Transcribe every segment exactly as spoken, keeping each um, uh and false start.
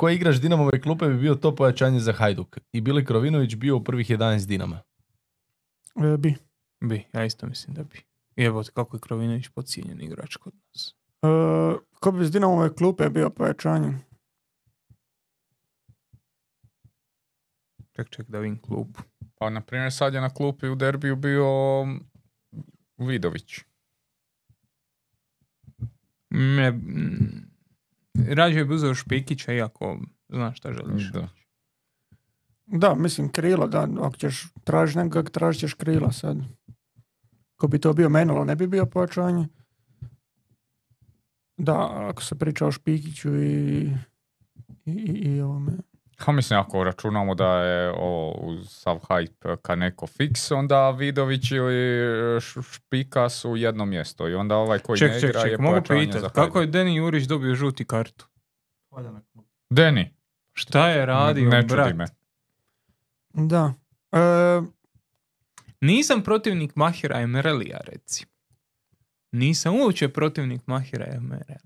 koji igrač Dinamove klupe bi bio to pojačanje za Hajduk? I Bili Krovinović bio u prvih jedanaest Dinama? E, bi. Bi, ja isto mislim da bi. Evo kako je Krovinović podcijenjen igrač kod nas. E, ko bi s Dinamove klupe bio pojačanje? Ček, ček da vidim klupu. Pa, na primjer, sad je na klupi u derbiju bio Vidović. Ne, m, rađe bi uzeo Špikića, iako znaš šta želiš. Da. Da, mislim krila, da, ako ćeš tražiti nekoga, tražit ćeš krila sad. Ko bi to bio Menalo, ne bi bio pojačanje. Da, ako se priča o Špikiću i i, i, i ovome. Ha, mislim, ako računamo da je o, uz sav hype Kaneko fix, onda Vidović ili Špika su jedno mjesto i onda ovaj koji Ček, ne ček, igra ček, je mogu pojačanje za pitati, Hajduk. kako je Deni Jurić dobio žuti kartu? Deni, Šta je radio, ne čudi brat? me. Da. E, Nisam protivnik Mahira Emerelija, reci. Nisam uopće protivnik Mahira Emerelija.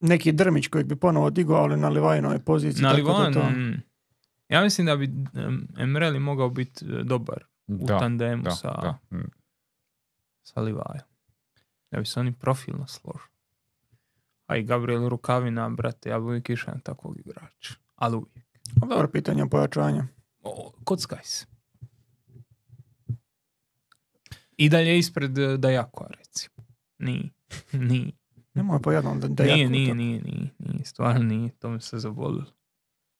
neki Drmić kojeg bi ponovo digao, ali na Livajinoj poziciji. Na tako da Livan, to- mm, ja mislim da bi um, Emreli mogao biti e, dobar u Da, tandemu da, sa, da. Mm. sa Livajom. Da bi se oni profilno složili. A i Gabriel Rukavina, brate, ja bi uvijek išao na takvog igrača. Ali uvijek. Dobro pitanje pojačanja. O, kockaj se. I dalje ispred e, Dajakova, recimo. Nije. Nije. Nemoj po jednom da, da Nije, jako nije, to- nije, nije, nije. Stvarno nije. To mi se zabolilo.